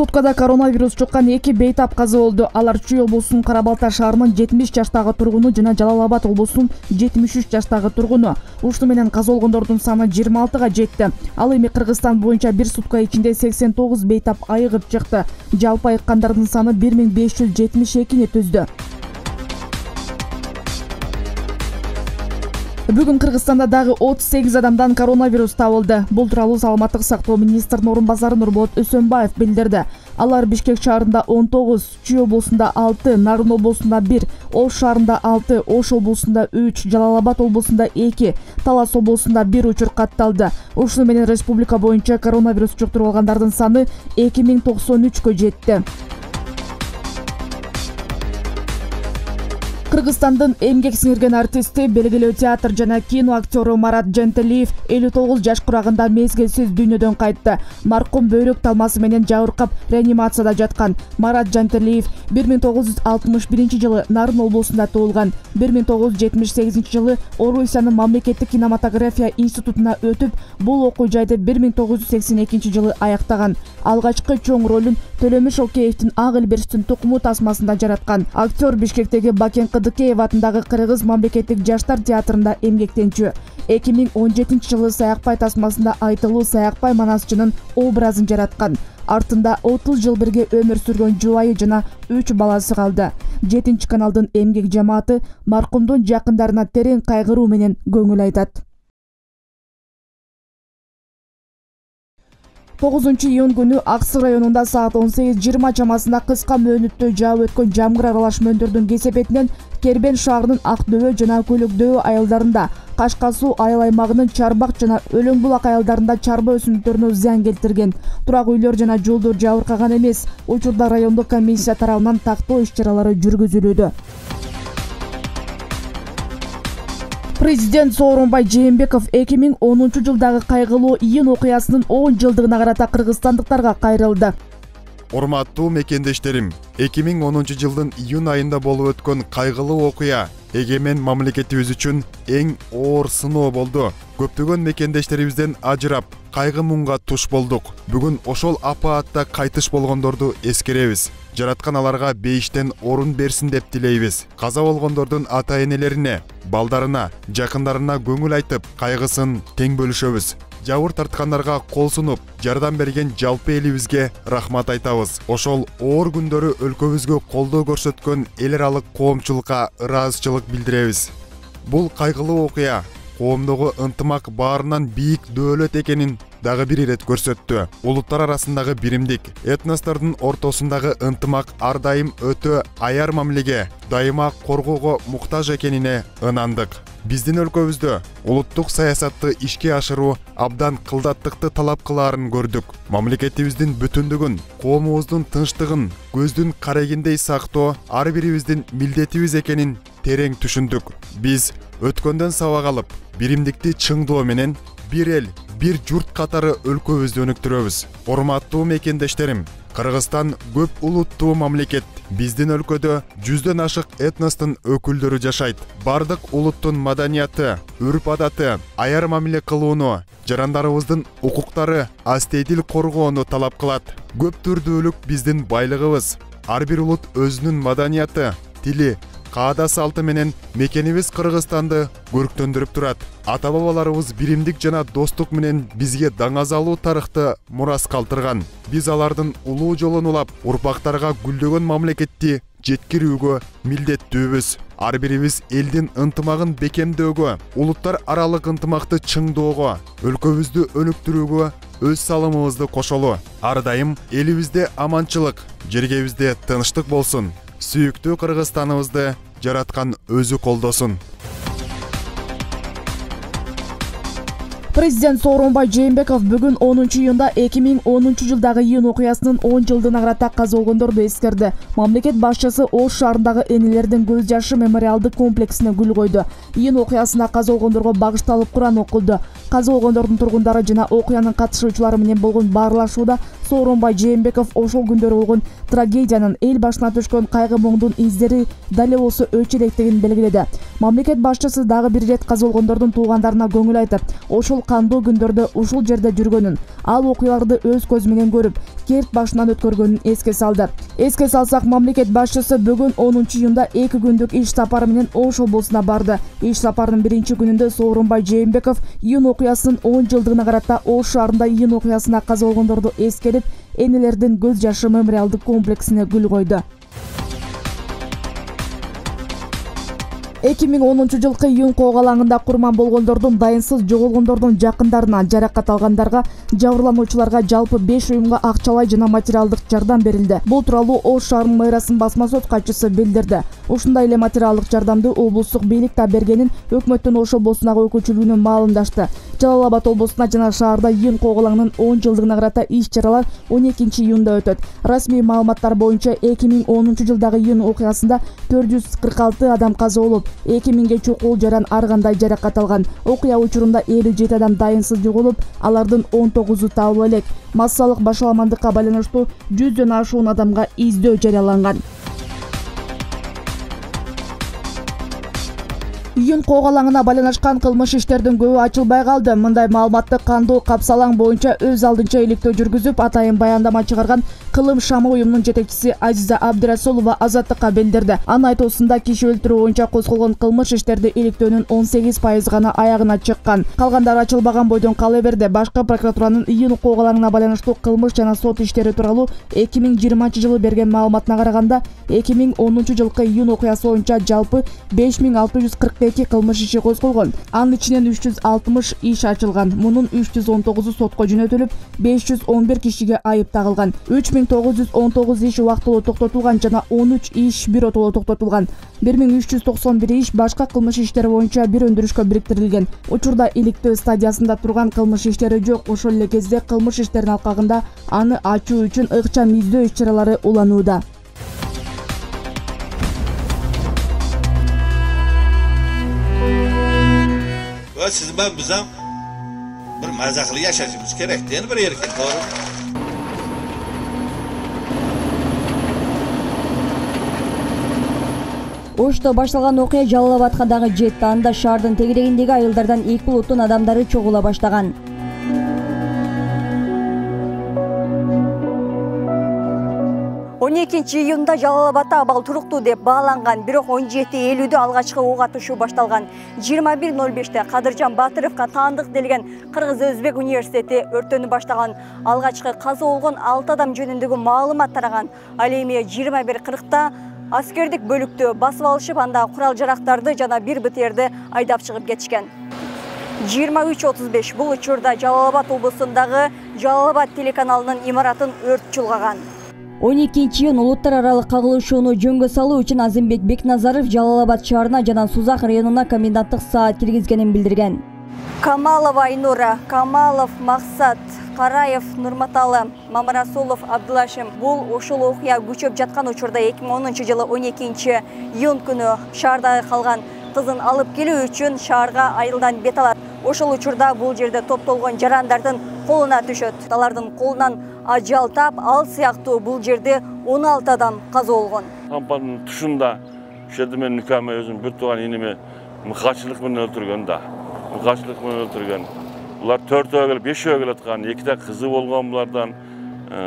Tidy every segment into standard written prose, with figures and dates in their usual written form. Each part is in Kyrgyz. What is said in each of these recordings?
Суткада коронавирус жуккан 2 бейтап каза болду. Алар Чүй облусунун Кара-Балта шаарынын 70 жаштагы тургуну жана Жалал-Абад облусунун 73 жаштагы тургуну. Ушуну менен каза болгондордун саны 26га жетти. Ал эми Кыргызстан боюнча бир сутка ичинде 89 бейтап айыгып чыкты. Жалпы айыккандардын саны 1572-ни түздү. Бүгүн Кыргызстанда дагы 38 адамдан коронавирус табылды. Бул тууралуу Саламаттык сактоо министринин орун базары Нурболот Өсөнбаев билдирди. Алар Бишкек шаарында 19, Чүй облусунда 6, Нарын облусунда 1, Ош шаарында 6, Ош облусунда 3, Жалал-Абад облусунда 2, Талас облусунда 1 учур катталды. Ушуну менен республика боюнча коронавирус жуктуруп алгандардын саны 2093кө жетти. Кыргызстандын эмгек сиңирген артисти, белгилүү театр жана кино актеру Марат Жантелиев 59 жаш курагында мезгилсиз дүйнөдөн кайтты. Маркум бөйрөк талмасы менен жабыркап реанимацияда жаткан. Марат Жантелиев 1961 жылы Нарын облусунда туулган. 1978 жылы Орусиянын мамлекеттик кинематография институтуна өтүп, бул окуу жайды 1982 жылы аяктаган. Алгачкы чоң ролун Төлөмүш Океевдин Ак Элберстин тукуму тасмасында жараткан. Актер Бишкектеги Бакен Кыдыкеев атындагы Кыргыз мамлекеттик жаштар театрында эмгектенчү. 2017 жылы Саякбай тасмасында айтылуу Саякбай манасчынын образын жараткан. Артында 30 жыл бирге өмүр сүргөн жубайы жана 3 баласы калды. 7-каналдын эмгек жамааты маркумдун жакындарына терең кайгыруу менен көңүл айтат. 9-июнь күнү Аксы районунда саат 18:20 чамасында кыска мөөнөттө жаап өткөн жамгыр аралаш мөндөрдүн кесепетинен Кербен шаарынын Ак дөбө жана Көлөк дөбө айылдарында, Кашка суу айыл аймагынын Чарбак жана Өлөң булак айылдарында чарба өсүмдүктөрүнө зыян келтирген. Турак үйлөр жана жолдор жабыркаган эмес. Учурда райондук комиссия тарабынан тактоо иш-чаралары жүргүзүлүүдө. Президент Сооронбай Жээнбеков 2010 жылдагы кайгылуу июнь окуясынын 10 жылдыгына карата кыргызстандыктарга кайрылды. Урматтуу мекендештерим, 2010 жылдын июнь айында болуп өткөн кайгылуу окуя эгемен мамлекетибиз үчүн эң оор сыноо болду. Көптөгөн мекендештерибизден ажырап, кайгы муңга туш болдук. Бүгүн ошол апаатта кайтыш болгондорду эскеребиз. Жараткан аларга бейиштен орун берсин деп тилейбиз. Каза болгондордун ата-энелерине, балдарына, жакындарына көңүл айтып, кайгысын тең бөлүшөбүз. Жабыр тарткандарга кол сунуп, жардам берген жалпы элибизге рахмат айтабыз. Ошол оор күндөрү өлкөбүзгө колдоо көрсөткөн эл аралык коомчулукка ыраазычылык билдиребиз. Бул кайгылуу окуя коомдогу ынтымак баарынан бийик дөөлөт экенин дагы бир ирет көрсөттү. Улуттар арасындагы биримдик, этностордун ортосундагы ынтымак ар дайым өтө аяр мамилеге, дайыма коргоого муктаж экенине ынандык. Биздин өлкөбүздө улуттук саясатты ишке ашыруу абдан кылдаттыкты талап кылаарын көрдүк. Мамлекетибиздин бүтүндүгүн, коомубуздун тынчтыгын көздүн карегиндей сактоо ар бирибиздин милдетибиз экенин терең түшүндүк. Биз өткөндөн сабак алып, биримдикти чыңдоо менен бир эл, бир журт катары өлкөбүздү өнүктүрөбүз. Урматтуу мекендештерим, Кыргызстан көп улуттуу мамлекет. Биздин өлкөдө 100дөн ашык этностун өкүлдөрү жашайт. Бардык улуттун маданияты, үрп-адаты, аяр мамиле кылууну, жарандарыбыздын укуктары, астейдил коргоону талап кылат. Көп түрдүүлүк биздин байлыгыбыз. Ар бир улут өзүнүн маданияты, тили, каада салты менен мекенибиз Кыргызстанды көрктөндүрүп турат. Ата-бабаларыбыз биримдик жана достук менен бизге даңазалуу тарыхты мурас калтырган. Биз алардын улуу жолун улап, урпактарга гүлдөгөн мамлекетти жеткирүүгө милдеттүүбүз. Ар бирибиз элдин ынтымагын бекемдөөгө, улуттар аралык ынтымакты чыңдоого, өлкөбүздү өнүктүрүүгө өз салымыбызды кошолу. Ар дайым элибизде аманчылык, жергебизде тынчтык болсун. Сүйүктүү Кыргызстаныбызды жараткан өзү колдосун. Президент Сооронбай Жээнбеков бүгүн 10 июнда 2010 жылдагы июнь окуясынын 10 жылдыгына карата каза болгондорду эскерди. Мамлекет башчысы Ош шаарындагы энелердин көз жашы мемориалдык комплексине гүл койду. Июнь окуясына каза болгондорго багышталып Куран окулду. Каза болгондордун тургундары жана окуянын катышуучулары менен болгон баарлашууда Сооронбай Жээнбеков ошол күндөрү болгон трагедиянын эл башына түшкөн кайгы муңдун издери дале болсо өчүрөктүгүн белгиледи. Мамлекет башчысы дагы бир ирет каза болгондордун туугандарына көңүл айтып, ошол кандуу күндөрдө ушул жерде жүргөнүн, ал окуяларды өз көзү менен көрүп, керт башынан өткөргөнүн эске салды. Эске салсак, мамлекет башчысы бүгүн 10 июнда 2 күндүк иш сапары менен Ош облусуна барды. Иш сапарынын биринчи күнүндө Сооронбай Жээнбеков июнь окуясынын 10 жылдыгына карата Ош шаарында июнь окуясына каза болгондорду эскерип, энелердин көз жашы мемориалдык комплексине гүл койду. 2010 жылкы июнь коогалаңында курман болгондордун, дайынсыз жоголгондордун жакындарына, жаракат алгандарга, жабырлануучуларга жалпы 5 уюмга акчалай жана материалдык жардам берилди. Бул тууралуу Ош шаарынын мэриянын басма сөз катчысы билдирди. Ушундай эле материалдык жардамды облустук бийлик да бергенин өкмөттүн Ош облусундагы өкүлчүлүгүнөн маалымдашты. Жалал Абад облусуна жана шаарда июнь коогалаңынын 10 жылдыгына карата иш-чаралар 12 июнда өтөт. Расмий маалыматтар боюнча 2010 жылдагы июнь окуясында 446 адам каза болуп, 2000ге чукул жаран ар кандай жаракат алган. Окуя учурунда 57 адам дайынсыз жоголуп, алардын 19-у табыла элек. Массалык башаламандыкка байланыштуу 100дөн ашуун адамга издөө жарыяланган. Июнь коогалаңына байланышкан кылмыш иштердин көбү ачылбай калды. Мындай маалыматты кандуу капсалаң боюнча өз алдынча иликтөө жүргүзүп, атайын баяндама чыгарган Кылым шамы уюмунун жетекчиси Азиза Абдырасулова Азаттыкка билдирди. Анын айтуусунда киши өлтүрүү боюнча козголгон кылмыш иштерди иликтөөнүн 18% гана аягына чыккан. Калгандары ачылбаган бойдон кала берди. Башкы прокуратуранын июнь коогалаңына байланыштуу кылмыш жана сот иштери тууралуу 2020 жылы берген маалыматына караганда, 2010 жылкы июнь окуясы боюнча жалпы 5642 кылмыш иши козголгон. Анын ичинен 360 иш ачылган. Мунун 319 сотко жөнөтүлүп, 511 кишиге айып тагылган. 3919 иш убактылуу токтотулган жана 13 иш биротоло токтотулган. 1391 иш башка кылмыш иштери боюнча бир өндүрүшкө бириктирилген. Учурда иликтөө стадиясында турган кылмыш иштери жок. Ошол эле кезде кылмыш иштеринин алкагында аны ачуу үчүн ыкчам издөө иш-чаралары уланууда. Siz ben bizden bir mazaklı yaşayışımız gerektiğini bir erken doğru. Ошто башталган окуя Жалал Абадка дагы жетти. Анда шаардын тегерегиндеги айылдардан эки улуттун адамдары чогула баштаган. 12 июнда Жалал Абадта абал туруктуу деп бааланган, бирок 17:50 алгачкы ок атышуу башталган. 21:05 Кадыржан Батыровго таандык делген Кыргыз-Өзбек университети өртөнү баштаган. Алгачкы каза болгон 6 адам жөнүндөгү маалымат тараган. Ал эми 21:40 аскердик бөлүктү басып алышып, анда курал-жарактарды жана бир БТРди айдап чыгып кетишкен. 23:35 бул учурда Жалал Абад облусундагы Жалал Абад телеканалынын имаратын өрт чулгаган. 12 июнь улуттар аралык кагылышууну жөнгө салуу үчүн Азимбек Бекназаров Жалал Абад шаарына жана Сузак районуна коменданттык саат киргизгенин билдирген. Камалова Айнура, Камалов Максат, Караев Нурматалы, Мамарасулов Абдулашим. Бул ошол окуя күчөп жаткан учурда 2010 жылы 12 июнь күнү шаарда калган кызын алып келүү үчүн шаарга айылдан бет алат. Ошол учурда бул жерде топтолгон жарандардын колуна түшөт. Алардын колунан ажал тап, ал сыяктуу бул жерде 16 адам каза болгон. Кампанын тушунда ошол мен никаме өзүм бир тууган иниме мыкачылык менен өлтүргөн да. Мыкачылык менен өлтүргөн. Булар 4-өө келип 5-өө келаткан, 2 кызы болгон булардан,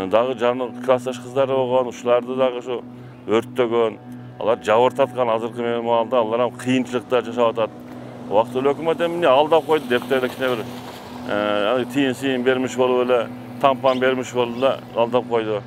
дагы жаны классташ кыздары болгон, ушуларды дагы ошо өрттөгөн. Алар жабыртаткан азыркы маалда алар кыйынчылыкта жашап атат. Убактылуу өкмөт эмне алдап койду деп эле кичине бир тиын бермиш болуп эле, тампан бермиш болду да алдап койду.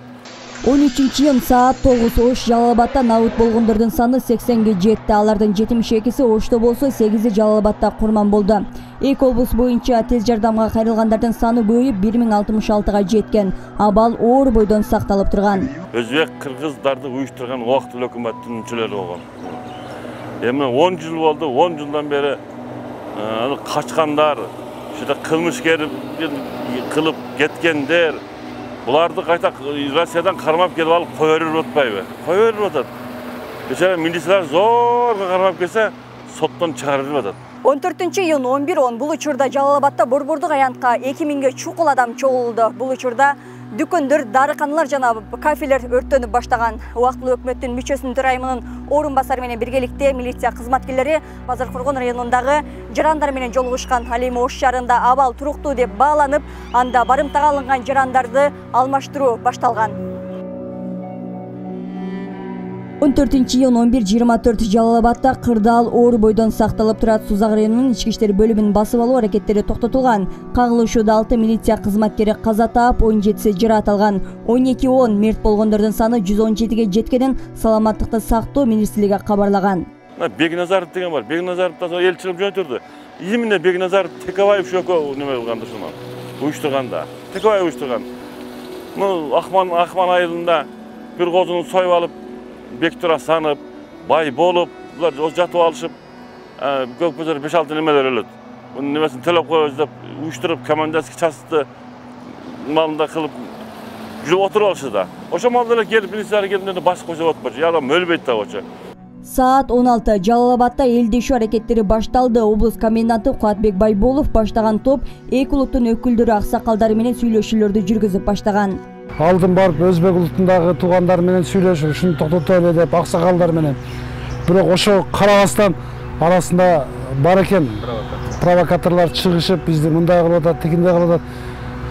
13 июнь саат 9 Ош Жалал Абадта набыт болгондордун саны 80ге жетти. Алардын 72-си Ошто болсо, 8-и Жалал Абадта курман болду. Эки облус боюнча тез жардамга кайрылгандардын саны көбөйүп 1066га жеткен. Абал оор бойдон сакталып турган. Өзбек кыргыздарды уюштурган убактылуу өкмөттүн мүчөлөрү болгон. Эми 10 жыл болду, 10 жылдан бери качкандар, ушда кылмышкер кылып кеткендер, буларды кайта Россиядан кармап келип алып кое берип атпайбы? Кое берип атат. Бечара милициялар зорго кармап келсе, соттон чыгарып атат. 14 июнь 11:10 бул учурда Жалал Абадта борбордук аянтка 2000ге чукул адам чогулду. Бул учурда Дүкөндөр, дарыканалар жана кафелер өрттөнүп баштаган. Убактылуу өкмөттүн мүчөсүнүн төрайымынын орун басары менен биргеликте милиция кызматкерлери Базар Коргон районундагы жарандар менен жолугушкан. Ал эми Ош шаарында абал туруктуу деп бааланып, анда барымтага алынган жарандарды алмаштыруу башталган. 14-iyun 11:24 Жалал-Абадта кырдаал оор бойдон сакталып турат. Сузак районунун ички иштер бөлүмүнүн басып алуу аракеттери токтотулган. Кагылышууда 6 милиция кызматкери каза таап, 17си жараат алган. 12-10 мерт болгондордун саны 117ге жеткенин Саламаттыкты сактоо министрлиги кабарлаган. Бекназаров деген бар. Бекназаров да эл чыгып жөнөтүрдү. Именно Бекназаров Текебаев шөкө неме кылганда ушуну уюштурганда. Текебаев уюштурган. Акман айылында бир козуну союп алып, бектура санып, бай болуп, булар жатып алышып, көкпөзөр 5-6 немелер өлөт. Мунун немесин төлөп коебуз деп уюштуруп, командирский частьты малында кылып жүрүп отуруп алышты да. Ошо малдар келип, милициялар келгенде баш кошуп отпочу, адам өлбөйт да очо. Саат 16 Жалал-Абадта элдешүү аракеттери башталды. Облус коменданты Куатбек Байболов баштаган топ эки улуттун өкүлдөрү, аксакалдары менен сүйлөшүүлөрдү жүргүзүп баштаган. Алдын барып өзбек улутундагы туугандар менен сүйлөшүп, ушуну токтотолу деп аксакалдар менен. Бирок ошо карабастан арасында бар экен провокаторлор чыгышып, бизди мындай кылып атат, тигиндей кылып атат.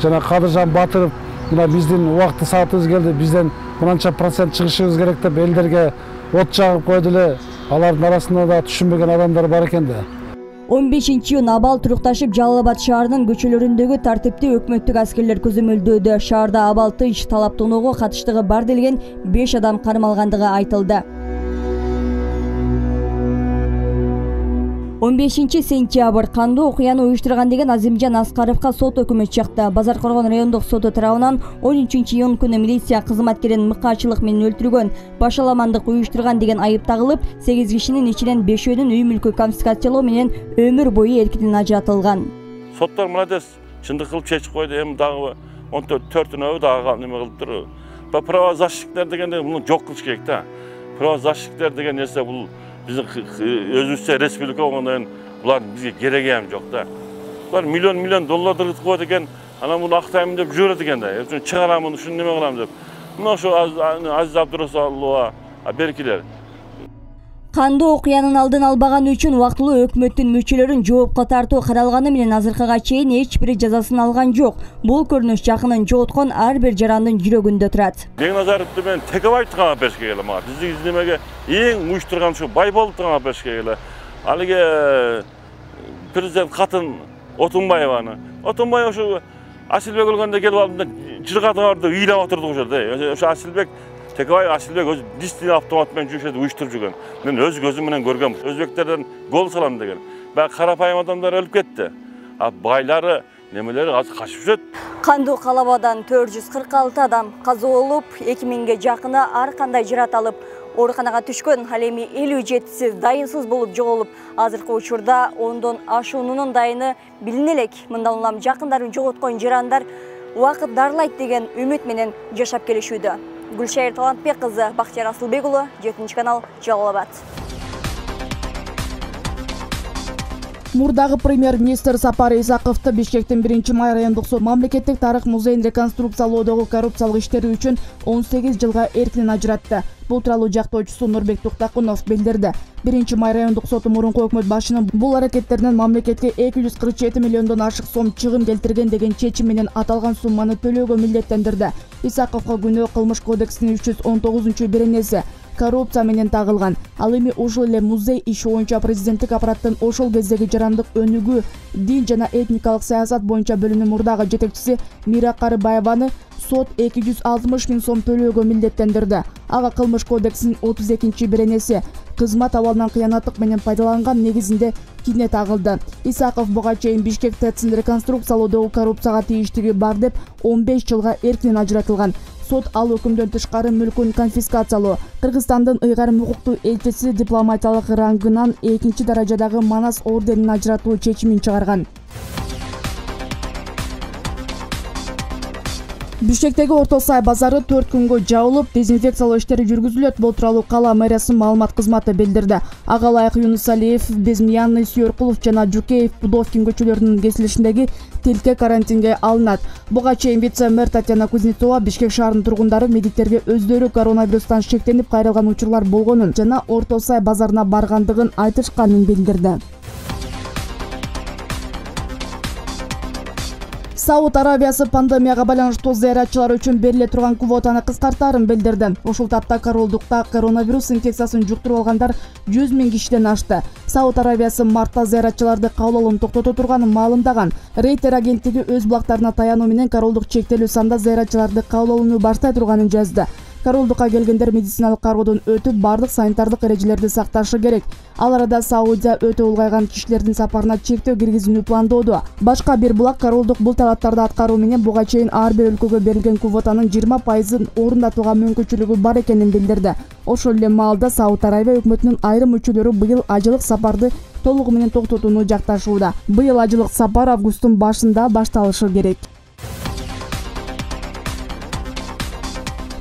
Жана Кадыржан Батыров мына биздин убакыт саатыбыз келди, бизден мынанча процент чыгышыбыз керек деп элдерге от жагып койду эле. Алардын арасында да түшүнбөгөн адамдар бар экен да. 15-iyun абал турукташып, Жалал-Абад шаарынын көчөлөрүндөгү тартипти өкмөттүк аскерлер көзөмөлдөөдө. Шаарда абал тынч, талаптоонууга катыштыгы бар делген 5 адам кармалгандыгы айтылды. 15-сентябрь кандуу окуяны уюштурган деген Азимжан Аскаровго сот өкүмү чыкты. Базар Коргон райондук соту тарабынан 13-iyun күнү милиция кызматкерин мыкаачылык менен өлтүргөн, башаламандык уюштурган деген айып тагылып, 8 кишинин ичинен 5-өөнүн үй мүлкү конфискациялоо менен өмүр бою эркинен ажыратылган. Соттор молодец, чындык кылып чечип койду. Эми дагы 14-өө дагы неме кылыптыр. Правозащитниктер дегенде муну жок кылыш керек да. Правозащитниктер деген нерсе бул биздин өзүбүзчө республика болгондон булар бизге кереги эми жок да. Булар миллион доллар кылып коет экен, анан муну актаймын деп жүрөт экен да. Чыгарамын, ушуну неме кылам деп. Мына ошо Азиз Абдурасулова беркилер. Кандуу окуянын алдын албаган үчүн убактылуу өкмөттүн мүчөлөрүн жоопко тартуу каралганы менен азыркыга чейин эч бири жазасын алган жок. Бул көрүнүш жакынын жооткон ар бир жарандын жүрөгүндө турат. Бекназаровду мен Текебаевди кама беришке келе мага. Биздин немеге эң уюштурган ушу Байболовду кама беришке келе. Алиге президент катын Отунбаеваны. Отунбаев ушу Асилбек өлгөндө келип алып жыргатып ыйлап отурдук ошо да. Ошо Асилбек Текебаев Асилбек өз дистин автомат менен жүрүшөт, уюштуруп жүргөн. Мен өз көзүм менен көргөм. Өзбектерден гол салам деген. Баягы карапайым адамдар өлүп кетти. А байлары, немелери азыр качып жүрөт. Кандуу калабадан 446 адам каза болуп, 2000ге жакыны ар кандай жараат алып, ооруканага түшкөн. Ал эми 57си дайынсыз болуп жоголуп, азыркы учурда 10дон ашуунунун дайыны билине элек. Мындан улам жакындарын жоготкон жарандар убакыт дарылайт деген үмүт менен жашап келишүүдө. Гүлшайыр Талантбек кызы, Бактияр Асылбек уулу, 7-канал, Жалал-Абад. Мурдагы премьер-министр Сапар Исаковду Бишкектин 1-май райондук сот мамлекеттик тарых музейин реконструкциялоодогу коррупциялык иштери үчүн 18 жылга эркинен ажыратты. Бул тууралуу жактоочусу Нурбек Туктакунов билдирди. 1-май райондук соту мурунку өкмөт башынын бул аракеттеринен мамлекетке 247 миллиондон ашык сом чыгым келтирген деген чечим менен аталган сумманы төлөөгө милдеттендирди. Исаковго күнөө Кылмыш кодексинин 319-беренеси коррупция менен тагылган. Ал эми ушул эле музей иши боюнча президенттик аппараттын ошол кездеги жарандык өнүгүү, дин жана этникалык саясат боюнча бөлүмүнүн мурдагы жетекчиси Мира Карыбаеваны сот 260 миң сом төлөөгө милдеттендирди. Ага Кылмыш кодексинин 32-беренеси кызмат абалынан кыянаттык менен пайдаланган негизинде кине тагылды. Исаков буга чейин Бишкек ТЭЦин реконструкциялоодогу коррупцияга тийиштиги бар деп 15 жылга эркинен ажыратылган. Сот ал өкүмдөн тышкары мүлкүн конфискациялоо, Кыргызстандын ыйгарым укуктуу элчиси дипломатиялык рангынан 2-даражадагы Манас орденин ажыратуу чечимин чыгарган. Бишкектеги Орто Сай базары 4 күнгө жабылып, дезинфекциялоо иштери жүргүзүлөт. Бул тууралуу кала мэриясынын маалымат кызматы билдирди. Ага ылайык Юнусалиев, Безмиянный, Сүйөркулов жана Жукеев, Пудовкин көчөлөрүнүн кесилишиндеги тилке карантинге алынат. Буга чейин вице-мэр Татьяна Кузнецова Бишкек шаарынын тургундары медиктерге өздөрү коронавирустан шектенип кайрылган учурлар болгонун жана Орто Сай базарына баргандыгын айтышканын билдирди. Сауд Арабиясы пандемияга байланыштуу зыяратчылар үчүн бериле турган квотаны кыскартаарын билдирди. Ушул тапта королдукта коронавирус инфекциясын жуктуруп алгандар 100 000 кишиден ашты. Сауд Арабиясы мартта зыяратчыларды кабыл алууну токтото турганын маалымдаган. Рейтер агенттиги өз булактарына таянуу менен королдук чектелүү санда зыяратчыларды кабыл алууну баштай турганын жазды. Королдукка келгендер медициналык кароодон өтүп, бардык санитардык эрежелерди сакташы керек. Ал арада Саудия өтө улгайган кишилердин сапарына чектөө киргизүүнү пландоодо. Башка бир булак королдук бул талаптарды аткаруу менен буга чейин ар бир өлкөгө берилген квотанын 20%ын орундатууга мүмкүнчүлүгү бар экенин билдирди. Ошол эле маалда Сауд Арабия өкмөтүнүн айрым мүчөлөрү быйыл ажылык сапарды толугу менен токтотууну жакташууда. Быйыл ажылык сапар августтун башында башталышы керек.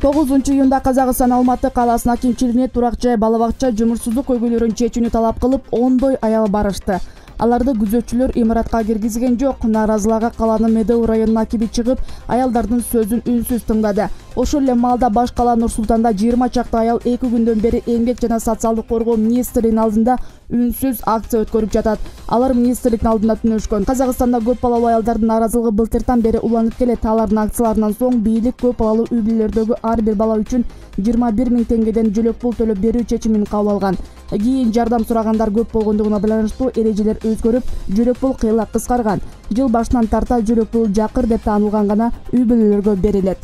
9-июнда Казакстан Алматы каласынын акимчилигине турак жай, бала бакча, жумурсуздук көйгөйлөрүн чечүүнү талап кылып, 10 аял барышты. Аларды күзөтчүлөр имаратка киргизген жок. Нааразыларга каланын Медеу районунун акиби чыгып, аялдардын сөзүн үнсүз тыңдады. Ошол эле маалда баш кала Нур Султанда 20 чакты аял 2 күндөн бери эмгек жана социалдык коргоо министрлигинин алдында үнсүз акция өткөрүп жатат. Алар министрликтин алдында түнөшкөн. Казакстанда көп балалуу аялдардын нааразылыгы былтыртан бери уланып келет. Алардын акцияларынан соң бийлик көп балалуу үй бүлөлөрдөгү ар бир бала үчүн 21 000 теңгеден жөлөк пул төлөп берүү чечимин кабыл алган. Кийин жардам сурагандар көп болгондугуна байланыштуу эрежелер өзгөрүп, жөлөк пул кыйла кыскарган. Жыл башынан тарта жөлөк пул жакыр деп таанылган гана үй бүлөлөргө берилет.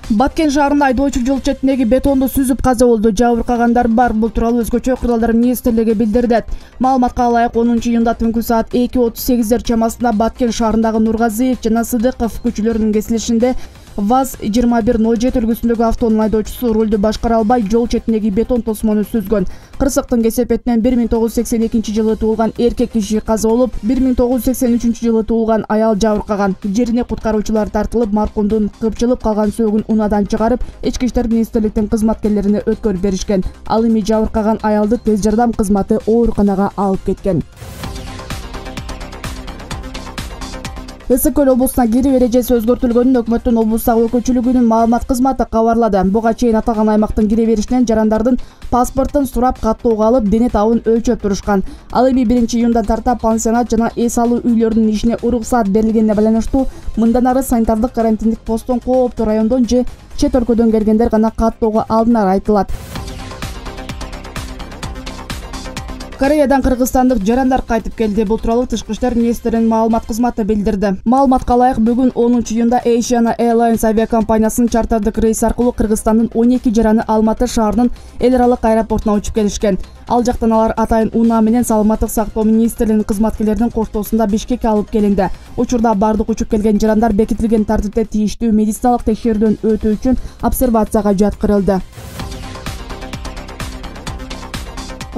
Баткен шаарында айдоочу жол четиндеги бетонду сүзүп каза болду. Жабыркагандар бар. Бул тууралуу Өзгөчө куралдар министрлиги билдирди. Маалыматка ылайык 10-июнда түнкү саат 2:38 чамасында Баткен шаарындагы Нургазиев жана Сыдыков көчөлөрүнүн кесилишинде ВАЗ-2107 үлгүсүндөгү автоунун айдоочусу рулду башкара албай жол четиндеги бетон тосмону сүзгөн. Кырсыктын кесепетинен 1982 жылы туулган эркек киши каза болуп, 1983 жылы туулган аял жабыркаган. Жерине куткаруучулар тартылып, маркумдун кыпчылып калган сөөгүн унадан чыгарып, ички иштер министрликтин кызматкерлерине өткөрүп беришкен. Ал эми жабыркаган аялды тез жардам кызматы ооруканага алып кеткен. Ысык-Көл облусуна кирип эрежеси өзгөртүлгөнүн өкмөттүн облустагы өкүлчүлүгүнүн маалымат кызматы кабарлады. Буга чейин аталган аймактын кире беришинен жарандардын паспортун сурап, каттоого алып, дене табын өлчөп турушкан. Ал эми 1-июндан тарта пансионат жана эс алуу үйлөрүнүн ишине уруксаат берилгенине байланыштуу мындан ары санитардык карантиндик посттон кооптуу райондон же чет өлкөдөн келгендер гана каттоого алынары айтылат. Кореядан кыргызстандык жарандар кайтып келди. Бул тууралуу Тышкы иштер министринин маалымат кызматы билдирди. Маалыматка ылайык, бүгүн 10-июнда Asiana Airlines авиакомпаниясынын чартардык рейс аркылуу Кыргызстандын 12 жараны Алматы шаарынын эл аралык аэропортуна учуп келишкен. Ал жактан алар атайын унаа менен Саламаттык сактоо министрлигинин кызматкерлеринин коштоосунда Бишкекке алып келинди. Учурда бардык учуп келген жарандар бекитилген тартипте тийиштүү медициналык текшерүүдөн өтүү үчүн обсервацияга жаткырылды.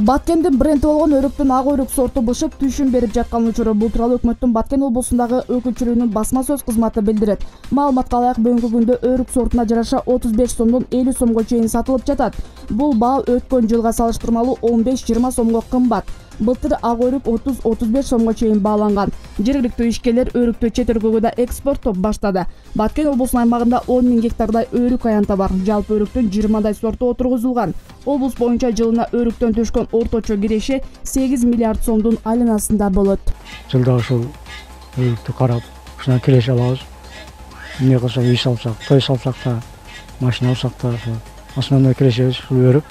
Баткендин бренди болгон өрүктүн ак өрүк сорту бышып түшүн берип жаткан учуру. Бул тууралуу өкмөттүн Баткен облусундагы өкүлчүлүгүнүн басма сөз кызматы билдирет. Маалыматка ылайык, бүгүнкү күндө өрүк сортуна жараша 35 сомдон 50 сомго чейин сатылып жатат. Бул баа өткөн жылга салыштырмалуу 15-20 сомго кымбат. Былтыр ак өрүк 30-35 сомго чейин бааланган. Жергиликтүү ишкерлер өрүктү чет өлкөгө да экспорттоп баштады. Баткен облусунун аймагында 10 000 гектардай өрүк аянта бар. Жалпы өрүктүн 20 сорту отургузулган. Облус боюнча жылына өрүктөн түшкөн орточо киреше 8 миллиард сомдун айланасында болот. Жылда ушул өрүктү карап, ушуна киреше алабыз. Эмне кылсак, үй салсак, той салсак да, машина алсак да, основной кирешебиз ушул өрүк.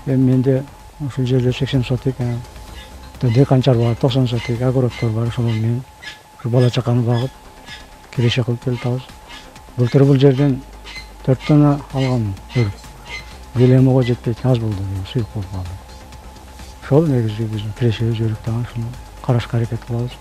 Эми менде ушул жерде 80 сотик, деканчар бар, 90 сотик, огороддор бар. Ошол менен бала чаканы багып, киреше кылып келатабыз. Былтыр бул жерден 4 тонна алгам өрүк. Велемого жетпейт, аз болду, суюк болуп калды. Ошол негизи биздин кирешебиз өрүктө, ушуну карашка аракет кылабыз.